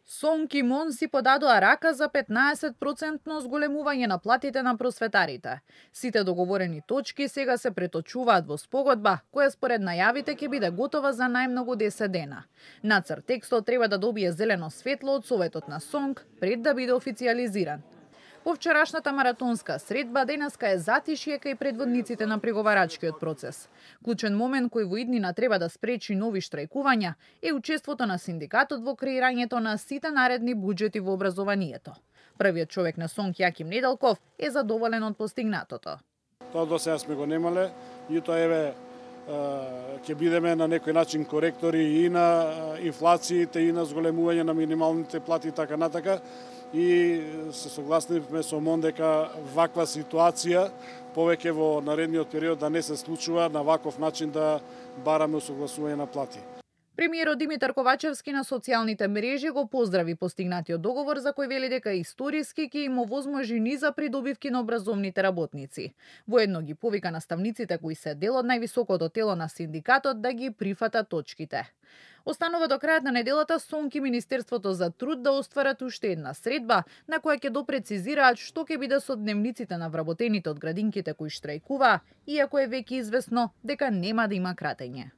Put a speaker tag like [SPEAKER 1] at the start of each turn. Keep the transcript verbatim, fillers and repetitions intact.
[SPEAKER 1] Сонки Мон си подадоа рака за петнаесет проценти зголемување на платите на просветарите. Сите договорени точки сега се преточуваат во спогодба, која според најавите ќе биде готова за најмногу десет дена. Нацрт текстот треба да добие зелено светло од Советот на Сонк пред да биде официјализиран. По вчерашната маратонска средба денеска е затишје кај предводниците на преговарачкиот процес. Клучен момент кој во иднина треба да спречи нови штрајкувања е учеството на синдикатот во креирањето на сите наредни буџети во образованието. Првиот човек на Сонк, Јаким Неделков, е задоволен од постигнатото.
[SPEAKER 2] Тоа до сега сме го немале и тоа еве ќе бидеме на некој начин коректори и на инфлациите и на зголемување на минималните плати и така натака. И се согласивме со Мон дека ваква ситуација повеќе во наредниот период да не се случува, на ваков начин да бараме усогласување на плати.
[SPEAKER 1] Премиерот Димитар Ковачевски на социјалните мрежи го поздрави постигнатиот договор за кој вели дека историски ќе им овозможи низа придобивки на образовните работници. Воедно ги повика наставниците кои се дел од највисокото тело на синдикатот да ги прифатат точките. Останува до крајот на неделата Сонк и Министерството за труд да остварат уште една средба на која ќе допрецизираат што ќе биде со дневниците на вработените од градинките кои штрајкуваа, иако е веќе известно дека нема да има кратење.